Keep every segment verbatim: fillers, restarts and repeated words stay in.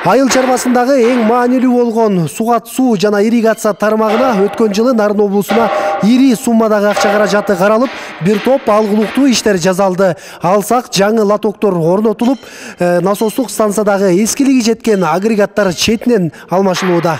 Айыл чарбасындагы эң маанилүү болгон сугат суу жана ирригация тармагына өткөн жылы Нарын облусуна ири суммадагы акча каражаты каралып, бир топ алгылыктуу иштер жасалды. Алсак жаңы лотоктор орнотулуп, насостук станциядагы эскилиги жеткен агрегаттар четинен алмашылууда.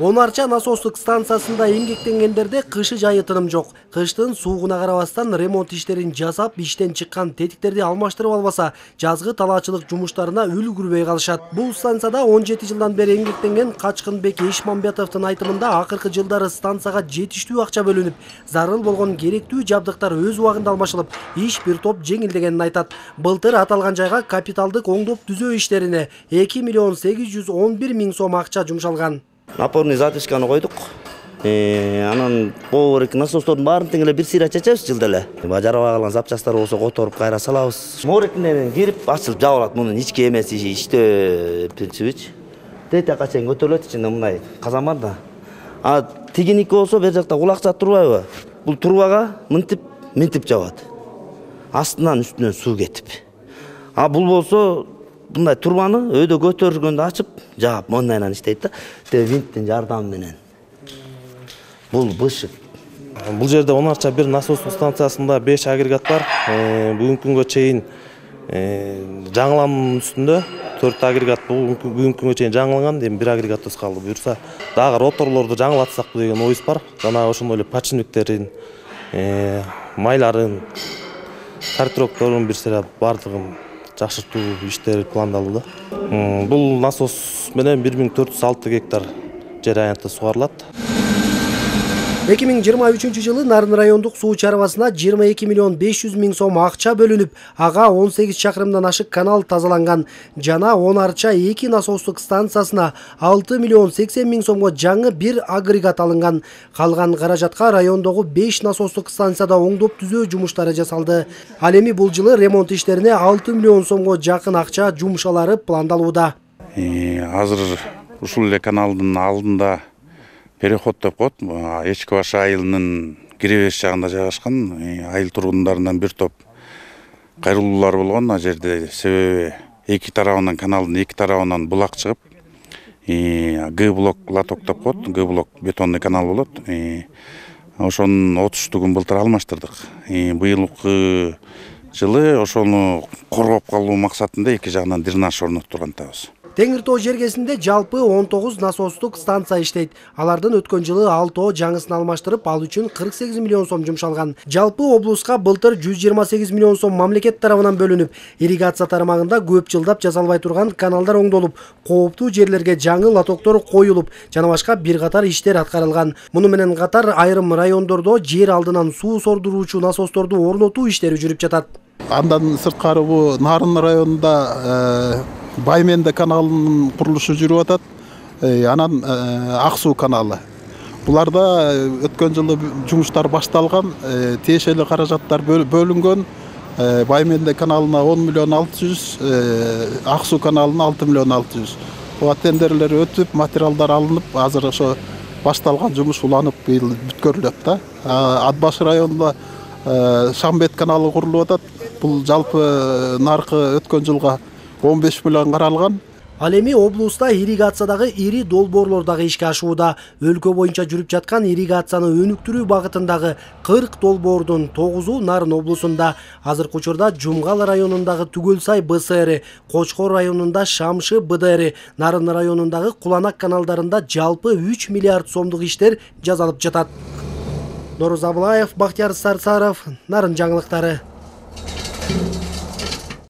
он арча насостук станциясында эмгектенгендерде кышы жайы тыным жок. Кыштын суугуна карабастан ремонт иштерин жасап, иштен чыккан тетиктерди алмаштырып албаса, жазгы талаачылык жумуштарына үлгүрбөй калышат. Бул станцияда он жети жылдан бери эмгектенген Качкынбек Эшмамбетовдун айтымында акыркы жылдары станцияга жетиштүү акча бөлүнүп, зарыл болгон керектүү жабдыктар өз убагында алмашылып, иш бир топ жеңилдегенин айтат. Былтыр аталган жайга капиталдык оңдоп түзөө иштерине эки миллион сегиз жүз он бир миң сом акча жумшалган. Напорный затычканы койдук. Анан боор эки насостордун баарын тең эле бир сыйра чечебиз жылда эле. Бажарабай калган запчасттар болсо которуп кайра салабыз. Моорекинен кирип ачылып жабылат. Мунун ички эмеси иштөө принцибичи. Тетакка чейин көтөрүлөт, ичинде мындай казан бар да. А тигиники болсо бер жакта кулакча турбайбы? Бул турбага мынтип, мынтип жабат. Астынан үстүнөн суу кетип. А бул болсо мындай турбаны өйдө көтөргөндө ачып, жаап мондайынан иштейт да. Тэ винттин жардамы менен. Бул бышык. Бул жерде он арча бир насостук станциясында беш агрегат бар. Бүгүнкү күнгө чейин жаңылануунун үстүндө төрт агрегат бүгүнкү күнгө чейин жаңыланган, эми бир агрегатыбыз калды. Буюрса дагы роторлорду жаңылатсакпы деген оюбуз бар. Жана ошондой эле подшипниктерин, майларын, картирокторун бир сыйра бардыгын жакшыртуу иштери пландалууда. Бул насос менен бир миң төрт жүз алты гектар жер аянты сугарылат. эки миң жыйырма үчүнчү жылы Нарын райондук суу чарбасына жыйырма эки миллион беш жүз миң сом акча бөлүнүп, ага он сегиз чакырымдан ашык канал тазаланган. Жана он арча эки насостук станциясына алты миллион сексен миң сомго жаңы бир агрегат алынган. Калган каражатка райондогу беш насостук станцияда оңдоп түзөө жумуштары жасалды. Ал эми бул жылы ремонт иштерине алты миллион сомго жакын акча жумшалары пландалууда. Азыр ушул эле каналдын алдында переход деп коет. Эчки баш айылынын киребеш жагында жайгашкан. Айыл тургундарынан бир топ кайрылуулар болгон. А жерде себеби эки тарабынан каналдын эки тарабынан булак чыгып, Г блок лоток деп коет. Г блок бетонный канал болот. Ошонун отуштугун былтыр алмаштырдык. Быйылкы жылы ошону коргоп калуу максатында эки жагынан дренаж орноттурган атабыз. Теңир тоо жергесинде жалпы он тогуз насостук станция иштейт. Алардын өткөн жылы алтоо жаңысын алмаштырып, ал үчүн кырк сегиз миллион сом жумшалган. Жалпы облуска былтыр жүз жыйырма сегиз миллион сом мамлекет тарабынан бөлүнүп, ирригация тармагында көп жылдап жасалбай турган каналдар оңдолуп, кооптуу жерлерге жаңы лотоктор коюлуп, жана башка бир катар иштер аткарылган. Муну менен катар айрым райондордо жер алдынан суу сордуруучу насосторду орнотуу иштери жүрүп жатат. Андан сырткары бул Нарын районунда Байменде каналынын курулушу жүрүп атат. Анан Ак суу каналы. Буларда өткөн жылы жумуштар башталган, тиешелүү каражаттар бөлүнгөн. Байменде каналына он миллион алты жүз, Ак суу каналына алты миллион алты жүз. Буга тендерлер өтүп, материалдар алынып, азыр ошо башталган жумуш уланып бүткөрүлөт да. Ат баш районунда Шамбет каналы курулуп атат. Бул жалпы наркы өткөн жылга он беш миллион каралган. Ал эми облуста ирригациядагы ири долбоорлор дагы ишке ашууда. Өлкө боюнча жүрүп жаткан ирригацияны өнүктүрүү багытындагы кырк долбоордун тогузу Нарын облусунда. Азыркы учурда Жумгал районундагы Түгөлсай Б С Р, Кочкор районунда Шамшы Б Д Р, Нарын районундагы Куланак каналдарында жалпы үч миллиард сомдук иштер жасалып жатат. Норuz Абылаев, Бактияр Сарсаров, Нарын жаңылыктары.